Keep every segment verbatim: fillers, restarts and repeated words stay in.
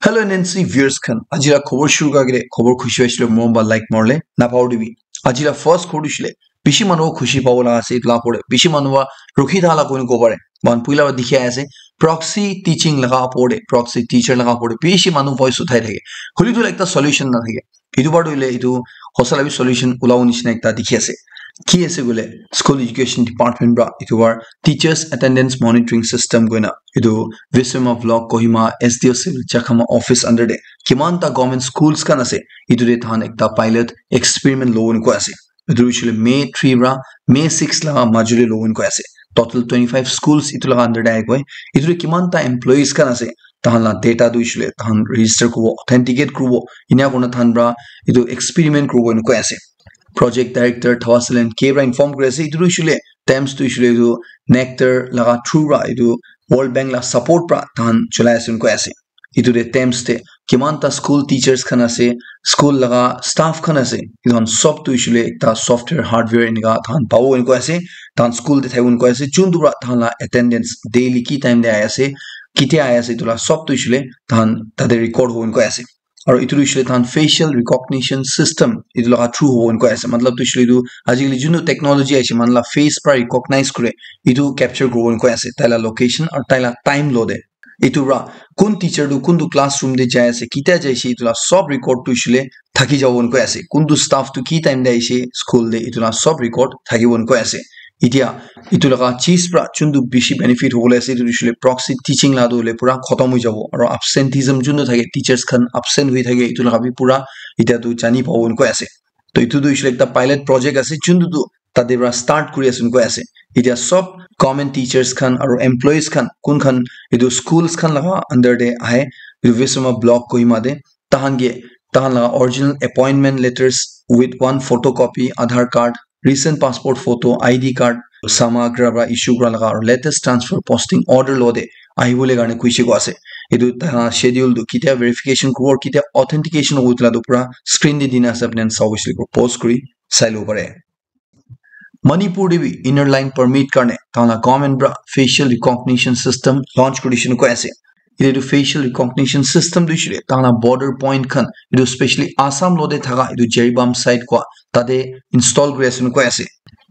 Hello N N C viewers khan, aji la khobor shuru kura agete khobor khushi hoishe le morom ba like morle napao dibi. Aji la first khobor hoishe le bishi manu khushi pabo laga ase, etu la pore bishi manu wa rukhi thala koi kobo pare. Mohan puila wa dikhi ase, proxy teaching laga pore, proxy teacher laga pore bishi manu voice uthai thake. Holi tu ekta solution na thake. Etu bar tu hoile etu hosa la bi solution ulabo nishina ekta dikhi ase. Ki ase koile, school education department pra etu bar teachers attendance monitoring system koina etu Viswama Block Kohima S D O Civil Chakhama office under de kiman ta government schools khan ase, etu de than ekta pilot experiment lobo ni koi ase. Etu hoishe le May three pra May six la majuli lobo ni koi ase. Total twenty five schools etu laga under de ahi koi. Etu de kiman ta employees khan ase, tahan la data tu hoishe le tahan register kuribo, authenticate kuribo, enia kurina tahan pra etu experiment kuribo ena koi ase. Project director Thawasalen K pra inform kuri ase, etu tu hoishe le TAMS tu hoishe le etu NECTAR laga through pra etu World Bank la support pra tahan cholai ase ena koi ase. Etu de TAMS de kiman ta school teachers khan ase, school laga staff khan ase, etu khan sob tu hoishe le ekta software hardware enika tahan pabo ena koi ase. Tahan school de thaibo ena koi ase, chun tu pra tahan la attendance daily ki time de ahi ase, kitia ahi ase, etu la sob tu hoishe le tahan tate record hobo ena koi ase. Aru etu tu hoishe le tahan facial recognition system etu laga through hobo ena koi ase. Matlab tu hoishe le etu ajikali junu technology aise, manu la face pra recognize kure, etu capture kuribo ena koi ase, tai la location aru tai la time lo de. Etu pra kun teacher tu kuntu classroom de jai ase, kitia jai ase, etu la sob record tu hoishe le thaki jabo ena koi ase. Kuntu staff tu ki time de aise school de, etu la sob record thakibo ena koi ase. Etia etu laga cheez pra chun tu bishi benefit hobole ase, etu tu hoishe le proxy teaching la tu hoile pura khotom hoi jabo. Aru absenteeism chun tu thake, teachers khan absent hoi thake, etu laga bi pura etia tu jani pabo ena koi ase. To etu tu hoishe le ekta pilot project ase, chun tu tu tate pra start kuri ase ena koi ase. Etia sob government teachers khan aru employees khan kun khan etu schools khan laga under de ahe, etu Viswama Block Kohima de, tahan ke tahan laga original appointment letters with one photocopy, Aadhaar card, recent passport photo, I D card, samagra pra issue kura laga aru latest transfer posting order lo de ahibole karne kuishe ko ase. Etu tahan schedule tu kitia verification kuribo, kitia authentication hobo, etu la tu pura screen de dina ase, apni khan sabo hoishe le pause kuri sai lobo pare. Manipur de bi inner line permit karne tahan la government pra facial recognition system launch kuri dishe ena koi ase. Etu tu facial recognition system tu hoishe le tahan la border point khan, etu specially Assam lo de thaka etu Jiribam side koi tate install kuri ase ena koi ase.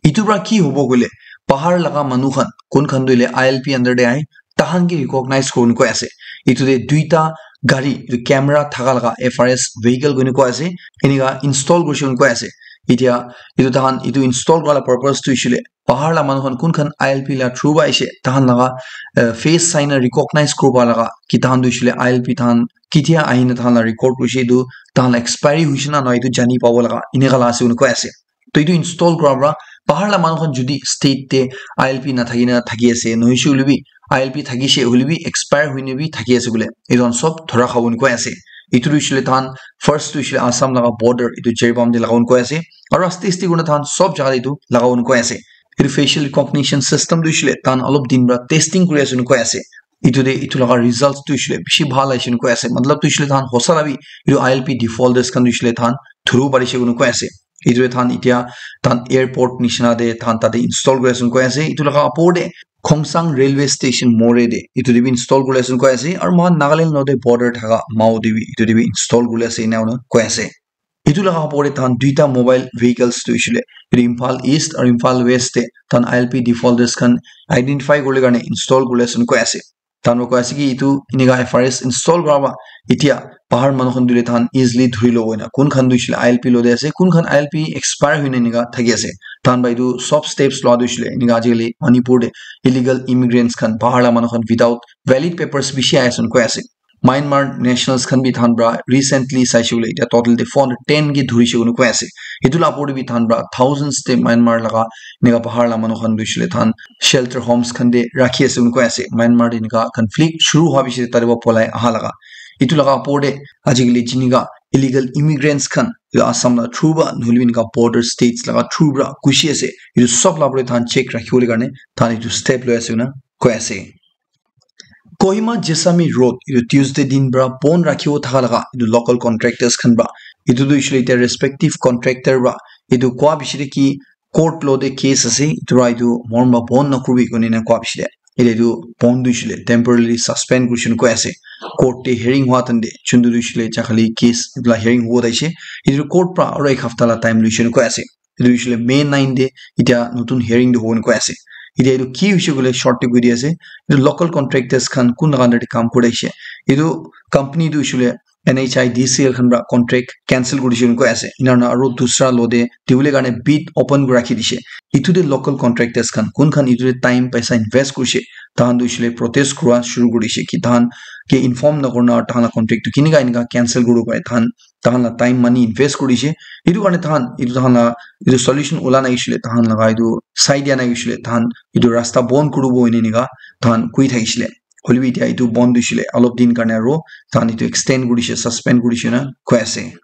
Etu pra ki hobo koile, bahar laga manu khan, kun khan tu hoile I L P under de ahe, tahan ke recognize kuribo ena koi ase. Etu de duita gari, etu camera thaka laga F R S vehicle koina koi ase, enika install kurishe koina koi ase. Etia etu tahan etu install kura la purpose tu hoishe le bahar la manu khan kun khan I L P la through pra aise, tahan laga, eh, face sign recognize kuribo laga ki tahan tu hoishe le I L P tahan kitia ahina tahan la record kurishe, etu tahan la expiry hoishe na nahoi etu jani pabo laga enika la ase koina koi ase. To etu install kura pra bahar la manu khan jodi state te I L P nathaki na thaki ase, nohoishe hoile bi I L P thakishe hoile bi expire hoine bi thaki ase bole, etu khan sob dhora khabo ena koi ase. Etu tu hoishe le tahan first tu hoishe le Assam laga border etu Jiribam de lagabo ena koi ase, aru aste aste kurina tahan sob jaga de etu lagabo ena koi ase. Etu facial recognition system tu hoishe le tahan olop din pra testing kuri ase ena koi ase. Etu de etu laga results tu hoishe le bishi bhal aise ena koi ase. Matlab tu hoishe le tahan hosa la bi etu I L P defaulters khan tu hoishe le tahan dhuribo parishe ena koi ase. Etu de tahan etia tahan airport nishina de tahan tate install kuri ase ena koi ase. Etu laga opor de Khongsang railway station more de etu de bi install kuri ase ena koi ase. Aru moikhan Nagaland lo de border thaka Mao de bi etu de bi install kuri ase ena koi ase. Etu laga opor de tahan duita mobile vehicles tu hoishe le etu Imphal East aru Imphal West de tahan I L P defaulters khan identify kuribole karne install kuri ase ena koi ase. Tahan para koi ase ki etu enika F R S install kura para etia bahar manu khan tu hoile tahan easily dhuri lobo ena. Kun khan tu hoishe le I L P lo de ase, kun khan I L P expire hoina enika thaki ase. Tahan para etu sob steps lua tu hoishe le enika ajikali Manipur de illegal immigrants khan, bahar la manu khan without valid papers bishi ahi ase koi ase. Myanmar nationals khan bi tahan para recently saishe koile etia total de four hundred ten ke dhurishe koina koi ase. Etu la opor de bi tahan para thousands de Myanmar laga enika bahar la manu khan tu hoishe le tahan shelter homes khan de rakhi ase koina koi ase. Myanmar de enika conflict shuru hua piche de tate para polai aha laga. Etu laga opor de ajikali jinika illegal immigrants khan etu Assam la through para nohoile bi enika border states laga through para ghusi ase. Etu sob la opor de tahan check rakhi bole karne tahan etu step loi ase koina koi ase. Kohima Jessami Road etu Tuesday din para bon rakhibo thaka laga etu local contractors khan para etu tu hoishe le etia respective contractor para etu koa piche de ki court lo de case ase, etu para etu morom para bon nakuribi koina ena koa piche de Ite etu bond tu hoishe le temporarily suspend kurishe koi ase. Court te hearing hua tan te chuntu tu hoishe le chakhali case la hearing hua taishe. Etu court pra aro ek hafta la time luishe koi ase. Etu hoishe le May nine te etiya notun hearing tu hobo koi ase. Etiya etu ki hoishe koile short te koi di ase. Etu local contractors khan kun laga under te kam kuri ase. Etu company tu hoishe le N H I D C L khan pra contract cancel kuri dishe koi ase. Ena na aro dusra lo te dibole karne bid open kuri rakhi dishe. Etu te local contractors khan kun khan etu te time paisa invest kurishe, tahan tu hoishe le protest kura shuru kuri dishe ki tahan ke inform na kurna tahan la contract tu kinika enika cancel kuri bo pare, tahan tahan la time money invest kuri dishe. Etu karne tahan etu tahan la etu solution ula nai hoishe le tahan laga etu sai dia nai hoishe le tahan etu rasta bon kuri bo ene enika tahan koi thakishe le. Hoilebi etiya etu bon tu hoishe le olop din karne aro tahan etu extend kuri dishe, suspend kuri dishe na koi ase.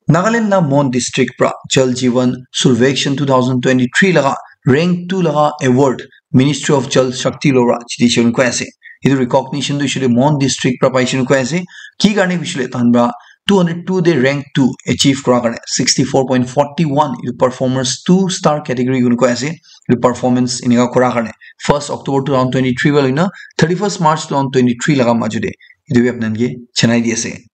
Nagaland la Mon district pra Jal Jeevan Survekshan two thousand twenty-three laga rank two laga award Ministry of Jal Shakti lora jiti shon koi ase. Etu recognition tu hoishe le Mon district pra paishe koi ase. Ki karne hoishe le tahan pra two hundred two te rank two achieve kura karne sixty-four point forty-one etu performance two star category koi ase. Etu performance enika kura karne first October two thousand twenty-three pra loina thirty-first March two thousand twenty-three laga majo te etu bi apnan ke chanai di ase.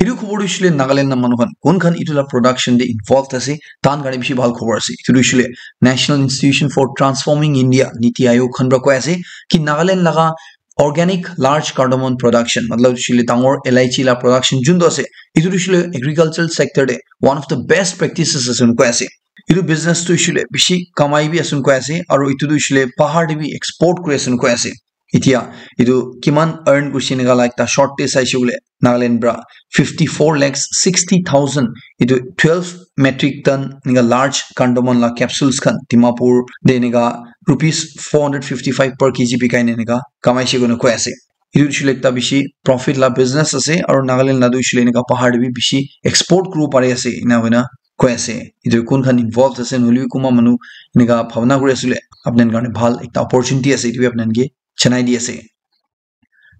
Etu khobor tu hoishe le Nagaland la manu khan kun khan etu la production te involved ase, tahan karne bishi bhal khobor ase. Etu tu hoishe le National Institution for Transforming India, Niti Aayog khan pra koi ase ki Nagaland laga organic large cardamom production, matlab hoishe le dangor elaichi la production juntu ase, etu tu hoishe le agricultural sector te one of the best practices ase koi ase. Etu business tu hoishe le bishi kamai bi ase koi ase, aro etu tu hoishe le bahar te bi export kuri ase koi ase. Etiya etu kiman earn kurishe enika la ekta short te saishe koile Nagaland pra fifty-four lakhs sixty thousand etu twelve metric ton enika large cardamom la capsules khan Dimapur te enika rupees four hundred fifty-five per K G bikai na enika kamaishe koina koi ase. Etu hoishe le ekta bishi profit la business ase aro Nagaland la tu hoishe le enika bahar te bi bishi export kuribo pari ase ena koina koi ase. Etu kun khan involved ase nohoilebi kunba manu enika bhabna kuri ase koile apnan karne bhal ekta opportunity ase, etu bi apnan ke janai di ase.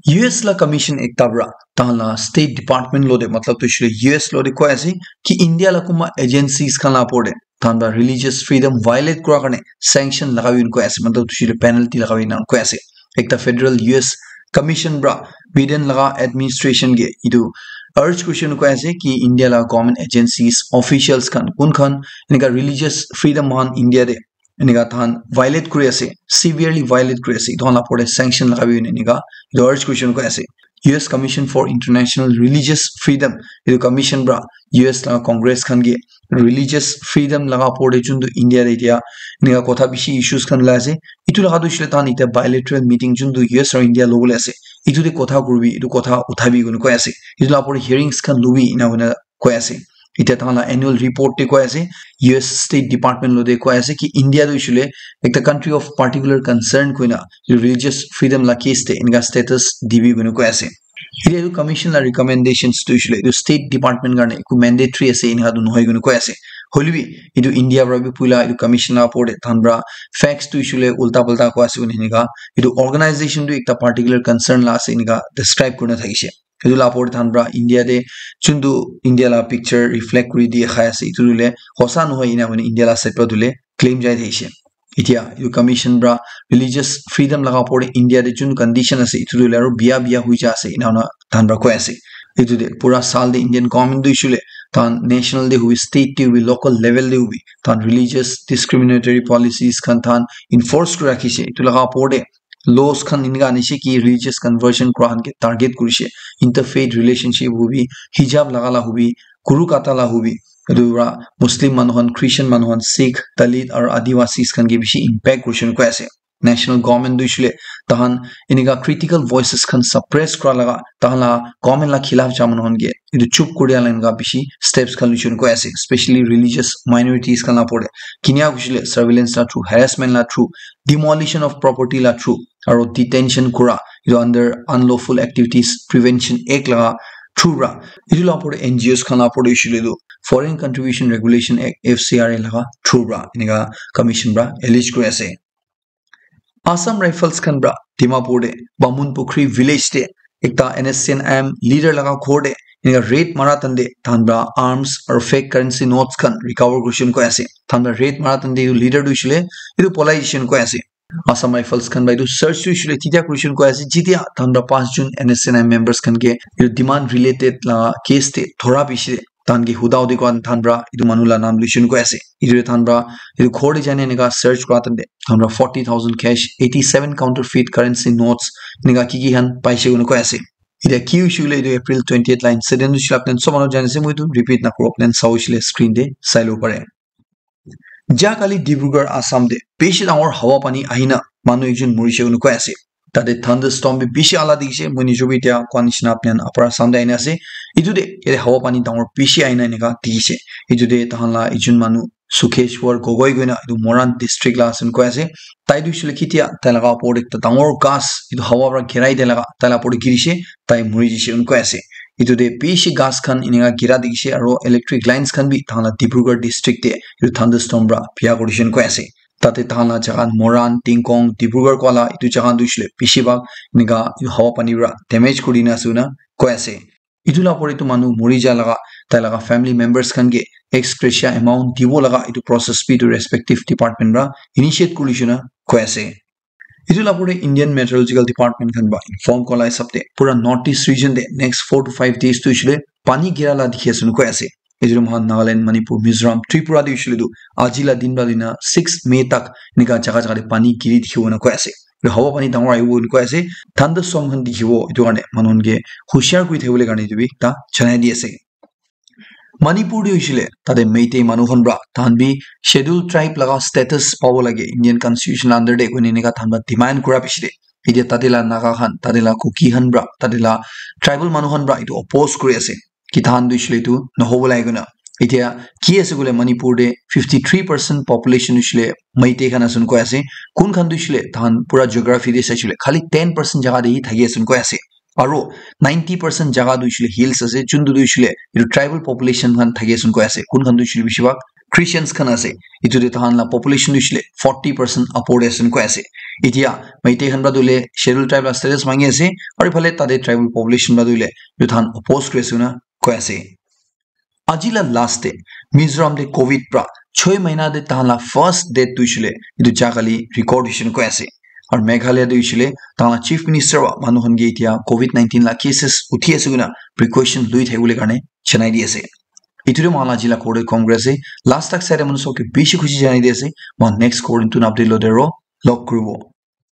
U S la commission ekta pra tahan la state department lo te matlab tu hoishe le U S lo te koi ase ki India la kunba agencies khan la upor te tahan pra religious freedom violate kura karne sanction lagabi koi ase, matlab tu hoishe le penalty lagabi na koi ase. Ekta federal U S commission pra Biden laga administration ke etu urge kurishe koi ase ki India la government agencies officials khan kun khan enika religious freedom khan India te enika tahan violate kuri ase, severely violate kuri ase, etu khan la upor te sanction lagabi enika etu urge kurishe koi ase. U S Commission for International Religious Freedom, etu commission pra U S laga Congress khan ke religious freedom laga upor te juntu India te etiya enika kotha bishi issues khan ulai ase, etu laga tu hoishe le tahan etiya bilateral meeting juntu U S aro India lobole ase, etu te kotha kuribi, etu kotha uthabi koina koi ase, etu la upor te hearings khan lobi ena koina koi ase. Etiya tahan la annual report te koi ase, U S State Department lo te koi ase ki India tu hoishe le ekta country of particular concern koina religious freedom la case te enika status dibi koina koi ase. Etiya etu commission la recommendations tu hoishe le etu state department karne eku mandatory ase enika tu nohoi koina koi ase. Hoilebi etu India pra bi puila etu commission la upor te tahan pra facts tu hoishe le ulta pulta koi ase koina enika etu organization tu ekta particular concern la ase enika describe kurina thakishe. Etu la upor te tahan pra India te juntu India la picture reflect kuri dikhai ase, etu tu hoile hosa nohoi ena koina India la side pra tu hoile claim jai thakishe. Etiya etu commission pra religious freedom laga upor te India te jun condition ase, etu tu hoile aro biya biya hoi ja ase ena koina tahan pra koi ase. Etu te pura saal te Indian government tu hoishe le tahan national te hobi, state te hobi, local level te hobi, tahan religious discriminatory policies khan tahan enforce kuri rakhishe. Etu laga upor te laws khan enika anishe ki religious conversion kura khan ke target kurishe, interfaith relationship hobi, hijab laga la hobi, kuru kata la hobi, etu pra Muslim manu khan, Christian manu khan, Sikh, Dalit aru Adivasis khan ke bishi impact kurishe koi ase. National government tu hoishe le tahan enika critical voices khan suppress kura laga, tahan la government la khilaf ja manu khan ke etu chup kuri dia la enika bishi steps khan luishe koi ase, especially religious minorities khan la upor te. Kinia hoishe le surveillance la through, harassment la through, demolition of property la through, aru detention kura, etu under Unlawful Activities Prevention Act laga through pra. Etu la upor te N G Os khan la upor te hoishe le tu Foreign Contribution Regulation Act, F C R A laga through pra enika commission pra allege kuri ase. Assam Rifles khan pra Dimapur te Bamunpukhri village te ekta N S C N I M leader laga ghor te enika raid mara tan te tahan pra arms aru fake currency notes khan recover kurishe koi ase. Tahan pra raid mara tan te etu leader tu hoishe le etu polai jishe koi ase. Assam Rifles khan para etu search tu hoishe koile titya korise koina koi ase, jetia tahan para panch jon N S C N I members khan ke etu demand related la case te dhora piche tahan ke huda hudi kura tahan para etu manu la naam loise koina koi ase. Etu tahan para etu ghor te jai na enika search kura time te tahan para forty thousand cash, eighty seven counterfeit currency notes, enika ki ki khan paise koina koi ase. Etia ki hoise koile etu April twenty eight la incident hoise koile apni khan sob manu jani ase, moi etu repeat na kuru, apni khan sai koile screen te sai lobo pare. Ja kali Dibrugarh Assam te bishi dangor hawa pani ahina manu ekjon morise koina koi ase. Tate thunderstorm bi bishi ala dikhi ase, moi nijo bi etia koa nishina apni khan Upper Assam te ahina ase. Etu te yate hawa pani dangor bishi ahina enika dikhi ase. Etu te tahan la ekjon manu Sukheshwar Gogoi koina etu Moran district la ase koina koi ase. Tai tu hoishe koile ketia tai laga opor te ekta dangor ghas etu hawa para girai dia laga tai la opor te girise, tai muri jise koina koi ase. Etu te bishi ghas khan enika gira dikhi ase aro electric lines khan bi tahan la Dibrugarh district te etu thunderstorm para bia kuri jise koina koi ase. Tate tahan la jaga Moran, Tingkong, Dibrugarh koa la etu jaga tu hoishe koile bishi bhag enika etu hawa pani para damage kuri na ase koina koi ase. Etu la opor te etu manu muri ja laga tai laga family members khan ke ex gratia amount dibo laga etu process bi etu respective department para initiate kuri jise koina koi ase. Etu la opor te Indian Meteorological Department khan para inform kura la hisab te pura North East region te next four to five days tu hoishe koile pani gira la dikhi ase koina koi ase. Etu tu moikhan Nagaland, Manipur, Mizoram, Tripura te hoishe koile tu aji la din para loi na six May tak enika jaga jaga te pani giri dikhibo koina koi ase. Etu hawa pani dangor ahibo koina koi ase. Thunderstorm khan dikhibo, etu karne manu khan ke hushiar kuri thakibole karne etu bi ekta janai di ase. Manipur te hoishe koile tate Meitei manu khan para tahan bi schedule tribe laga status pabo lage Indian constitution la under te koina enika tahan para demand kura piche te etia tate la Naga khan, tate la Kuki khan para, tate la tribal manu khan para etu oppose kuri ase ki tahan tu hoishe koile etu nahobo lage koina. Etia ki ase koile Manipur te fifty three percent population hoishe koile Meitei khan ase koina koi ase. Kun khan tu hoishe koile tahan pura geography te saishe koile khali ten percent jaga te hi thaki ase koina koi ase. Aro ninety percent jaga tu hoishe koile hills ase, juntu tu hoishe koile etu tribal population khan thaki ase koina koi ase. Kun khan tu hoishe koile bishi bhag Christians khan ase. Etu te tahan la population tu hoishe koile forty percent upor te ase koina koi ase. Etia Meitei khan para tu hoile schedule tribe la status mangi ase, aro ephale tate tribal population para tu hoile etu tahan oppose kuri ase koina koi ase. Aji la last te Mizoram te covid para choi mahina te tahan la first death tu hoishe koile etu ja kali record hoise koina koi ase. Aro Meghalaya te hoishe koile tahan la chief minister para manu khan ke etia covid nineteen la cases uthi ase koina precaution loi thakibole karne janai di ase. Etu tu moikhan la aji la Korea Congress ase. Last tak sai manu sob ke bishi khushi janai di ase. Moikhan next Korea tu update lo de ro log kuribo.